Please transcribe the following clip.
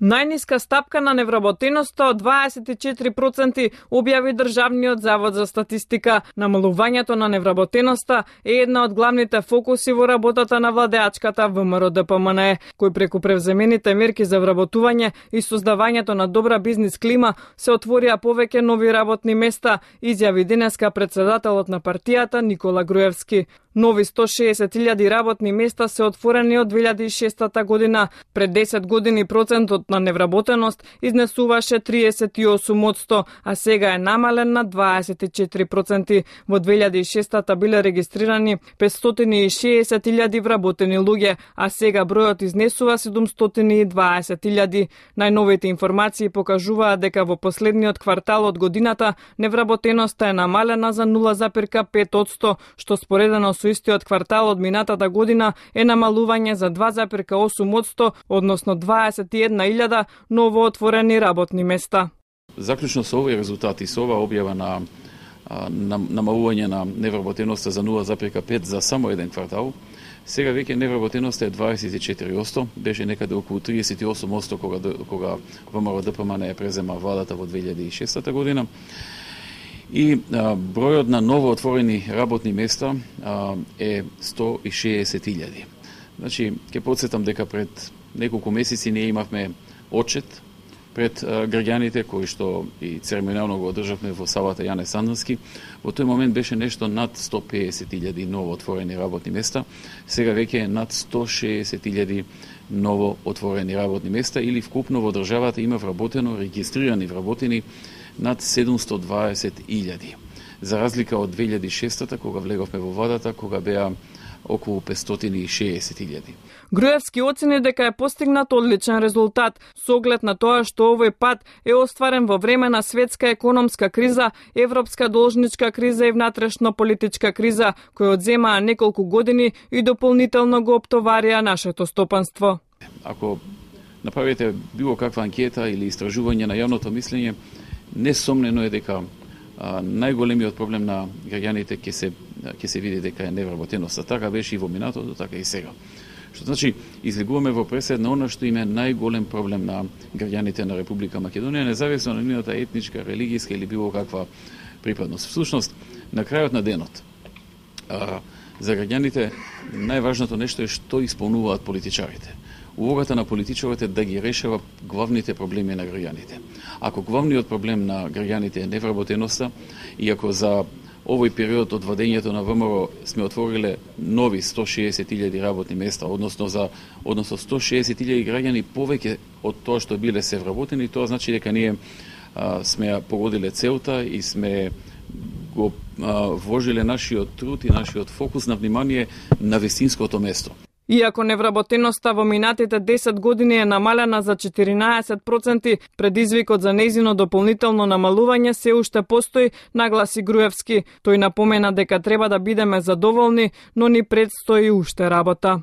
Најниска стапка на невработеноста од 24% објави Државниот завод за статистика. Намалувањето на невработеноста е една од главните фокуси во работата на владеачката ВМРО-ДПМНЕ, кој преку превземените мерки за вработување и создавањето на добра бизнис клима се отворија повеќе нови работни места, изјави денеска председателот на партијата Никола Груевски. Нови 160.000 работни места се отворени од 2006 година. Пред 10 години процентот на невработеност изнесуваше 38%, а сега е намален на 24%. Во 2006 биле регистрирани 560.000 вработени луѓе, а сега бројот изнесува 720.000. Најновите информации покажуваат дека во последниот квартал од годината невработеноста е намалена за 0,5%, што споредено со истиот квартал од минатата година е намалување за 2,8%, односно 21.000 новоотворени работни места. Заклучно со овие резултати, со оваа објава на намалување на невработеноста за 0,5 за само еден квартал, сега веќе невработеноста е 24%, беше некаде околу 38% кога ВМРО-ДПМНЕ презема владата во 2006 година. И бројот на новоотворени работни места е 160.000. Значи, ќе потсетам дека пред неколку месеци ние имавме отчет пред граѓаните, кој што и церемонијално го одржавме во салата Јане Сандански. Во тој момент беше нешто над 150.000 новоотворени работни места, сега веќе е над 160.000 новоотворени работни места, или вкупно во државата има вработено, регистрирани вработени над 720.000. За разлика од 2006 кога влеговме во владата, кога беа околу 560.000. Груевски оцени дека е постигнат одличен резултат, со оглед на тоа што овој пат е остварен во време на светска економска криза, европска должничка криза и внатрешно политичка криза, кои одземаа неколку години и дополнително го оптоварија нашето стопанство. Ако направите било каква анкета или истражување на јавното мислење, несомнено е дека најголемиот проблем на граѓаните ќе се види дека е невработеноста. Така беше и во минатото, така и сега. Што значи, излегуваме во пресед на она што им е најголем проблем на граѓаните на Република Македонија, независно на нивната етничка, религијска или било каква припадност. Всушност, на крајот на денот, за граѓаните најважното нешто е што исполнуваат политичарите. Улогата на политичарите да ги решава главните проблеми на граѓаните. Ако главниот проблем на граѓаните е невработеноста, и ако за овој период од владењето на ВМРО сме отвориле нови 160.000 работни места, односно 160.000 граѓани повеќе од тоа што биле се вработени, тоа значи дека ние сме погодиле целта и сме го вложиле нашиот труд и нашиот фокус на внимание на вистинското место. Иако невработеноста во минатите 10 години е намалена за 14%, предизвикот за нејзино дополнително намалување се уште постои, нагласи Груевски. Тој напомена дека треба да бидеме задоволни, но ни предстои уште работа.